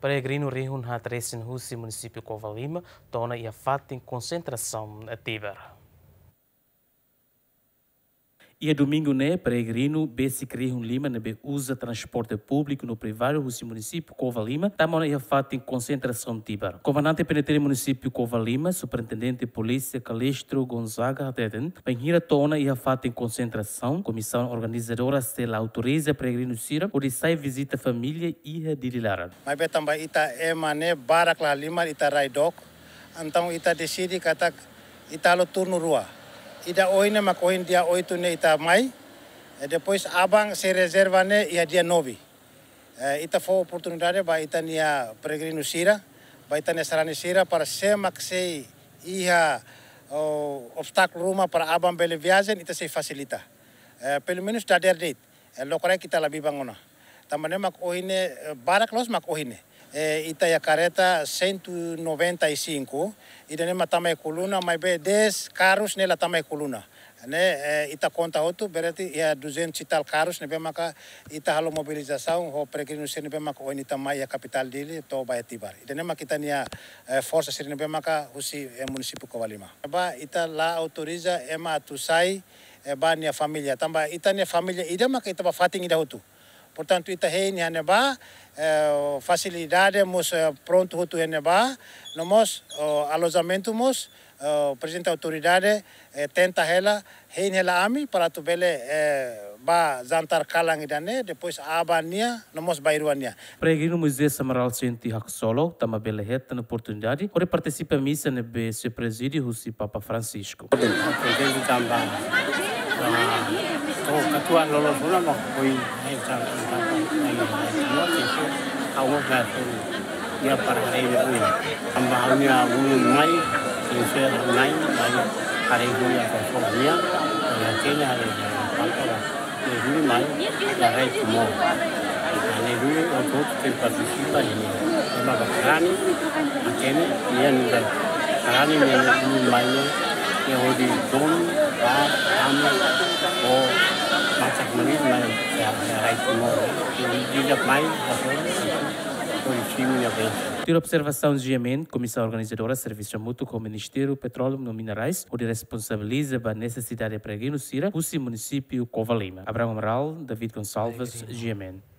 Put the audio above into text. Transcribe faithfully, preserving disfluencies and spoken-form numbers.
Peregrinu rihun haat resin husi munisípiu Covalima to'o ona iha fatin konsentrasaun Tibar. Iha domingu ne'e, peregrinu besik rihun lima ne'ebé uza transporte públiku no privadu husi munisípiu Covalima tama ona iha fatin konsentrasaun Tibar. Komandante P N T L munisípiu Covalima, Superintendente Polísia Calixto Gonzaga hateten, bainhira to'o ona iha fatin konsentrasaun, komisaun organizadora sei la autoriza peregrinu sira hodi sai vizita família iha Dili laran. Maibé tanba ita ema ne'e barak la halimar, ita rai dook. Entaun ita deside katak ita halo turnu rua. Ida ohin ne'e mak ohin dia oitu ne'e ita mai. E depois aban sei rezerva ne'e iha dia nove. E, ita fó oportunidade ba ita-nia peregrinu sira, ba ita-nia sarani sira, para se mak sei iha, o, obstákulu ruma para aban bele viajen, ita sei fasilita. E, pelumenus dadeer de'it, e, lokraik ita la biban ona. Tanba ne'e mak ohin ne'e, e, barak loos mak ohin ne'e. E, ita iha kareta cento e noventa e cinco, ida-ne'e mak tama iha Coluna, maibé dez karus ne'e la tama iha Coluna. Ne'e, e, ita konta hotu, berarti iha duzentos e tal karus ne'ebé maka ita halo mobilizasaun ho peregrinu sira ne'ebé maka ohin ita mai iha kapitál Dili to'o ba iha Tibar. Ida-ne'e mak ita-nia, e, forsa sira ne'ebé maka husi, e, munisípiu Covalima. Ba ita la autoriza ema atu sai, e, ba nia família. Tanba ita-nia família ida maka ita ba fatin ida hotu. Portantu, ita hein iha ne'ebá, e, fasilidade mós, e, prontu hotu iha ne'ebá, no mós, o, alojamentu mós, e, prezidente autoridade, e, tenta hela, hein hela ami para atu bele, e, ba jantar kalan ida-ne'e, depois aban nia, no mós bainrua nia. Peregrinu Moisés Amaral sente haksolok, tanba bele hetan oportunidade hodi partisipa misa ne'ebé sei prezide husi Papa Francisco. Kontente tanba, ah, to'o katuas loloos ona mak foin, eh, tanba, tanba, tanba, tanba, tanba, tanba, ya para hari ini. Tanba ha'u-nia ulun mai, sincero mai, mai, hari ini ya kosong dia, ya tiene hari ini, tanba, ne'e duni mai, la rai Timor. Ne'e duni hotu-hotu sei partisipa iha ne'e. Ema bakarani, hatene, nia nunka karani ne'e duni mai ne'e, nia hodi donu, ba, ami, o, matak menit mai, ya, ya rai Timor. Ne'e di'ak mai, hasoru, hodi simu nia bensaun. Tuir observasaun G M N, Komisaun Organizadora servisu hamutuk ho Ministériu Petróleu no Minerais, hodi responsabiliza ba nesesidade peregrinu sira husi munisípiu Covalima. Abraham Amaral, David Gonçalves, G M N.